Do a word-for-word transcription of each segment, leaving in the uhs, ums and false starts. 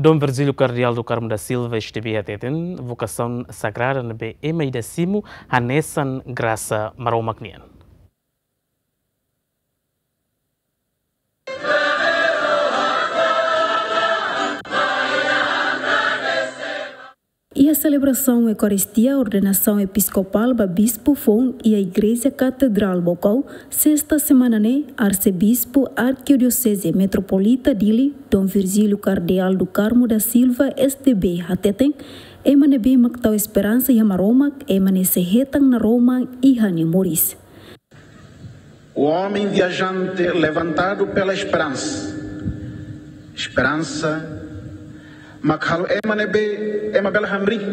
Dom Virgílio Kardeál do Carmo da Silva S D B hateten, vokasaun sagrada ne'ebé ema ida simu hanesan grasa Maromak nian. Iha selebrasaun Eukaristia ordenasaun episkopál ba bispu foun iha Igreja Katedrál Baucau, sesta semana ne'e, Arsebispu Arkidioseze Metropolita Dili, Dom Virgílio Kardeál do Carmo da Silva S D B hateten, ema ne'ebé mak tau esperansa iha Maromak, ema ne'e sei hetan naroman iha nia moris. O homem viajante levantado pela esperança. Esperansa mak halo ema ne'ebé, ema bele hamriik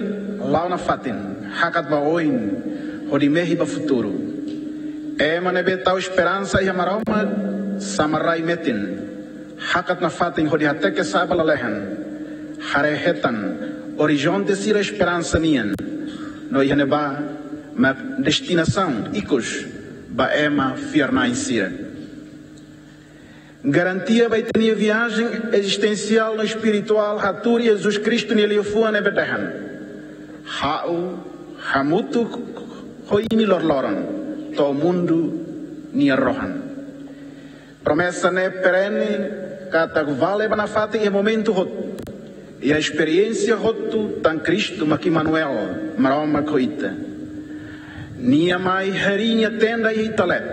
la'o nafatin, hakat ba oin hodi mehi ba futuru. Ema ne'ebé tau esperansa iha Maromak, sama rai metin, hakat nafatin hodi hateke sa'e ba lalehan, haree hetan orizonte sira esperansa nian, no iha ne'ebá mak destinasaun ikus ba ema fiar-na'in sira. Garantia ba ita-nia viajen ezistensiál no espirituál hatuur Jesus Kristu nia liafuan ne'ebé dehan: Ha'u hamutuk ho imi loroloron to'o mundu nia rohan. Promesa ne'e perene katak vale ba nafatin iha momentu hotu, iha esperiénsia hotu, tan Kristu mak Emanuel, Maromak ho ita. Nia mai harii nia tenda iha ita leet,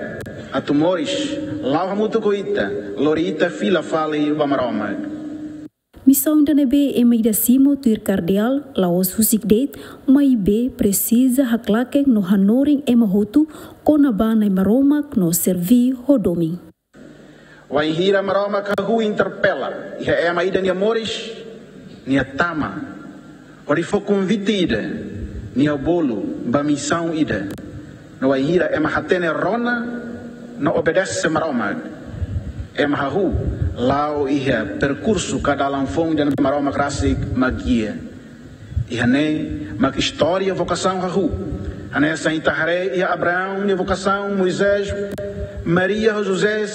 atu moris la'o hamutuk ho ita, lori ita fila fali ba Maromak. Misaun ida ne'ebé ema ida simu tuir kardeál la'ós husik de'it, maibé presiza haklaken no hanorin ema hotu kona-ba Na'i Maromak no serbí ho domin. Wainhira Maromak hahú interpela iha ema ida nia moris, nia tama hodi fó konvite ida, nia bolu ba misaun ida. No wainhira ema hatene rona no obedese Maromak, ema hahú la'o iha perkursu ka dalan foun ida ne'ebé Maromak rasik mak gia. Iha ne'e mak istória vokasaun hahú. Hanesan ita haree iha Abraão nia vokasaun, Moisés, Maria ho José,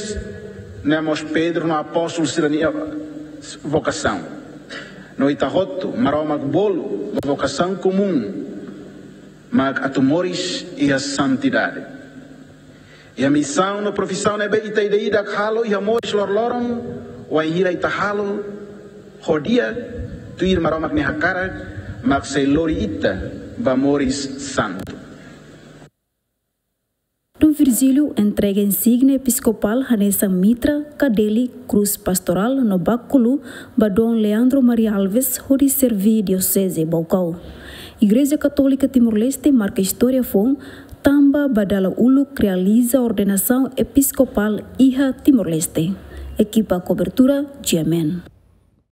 ne'e mós Pedro no apóstolu sira-nia vokasaun. No ita hotu, Maromak bolu ba vokasaun komún, mak atu moris iha santidade. Iha misaun no profisaun ne'ebé ita ida-idak halo iha moris loroloron, wainhira ita halo ho di'ak tuir Maromak nia hakarak, mak sei lori ita ba moris santu. Dom Virgílio entrega insígnia episkopál hanesan mitra, kadeli, krús pastorál no bákulu ba Dom Leandro Maria Alves hodi serbí Dioseze Baucau. Igreja Katólika Timor-Leste marka istória foun tanba ba dala uluk realiza ordenasaun episkopál iha Timor-Leste. Ekipa kobertura, G M N.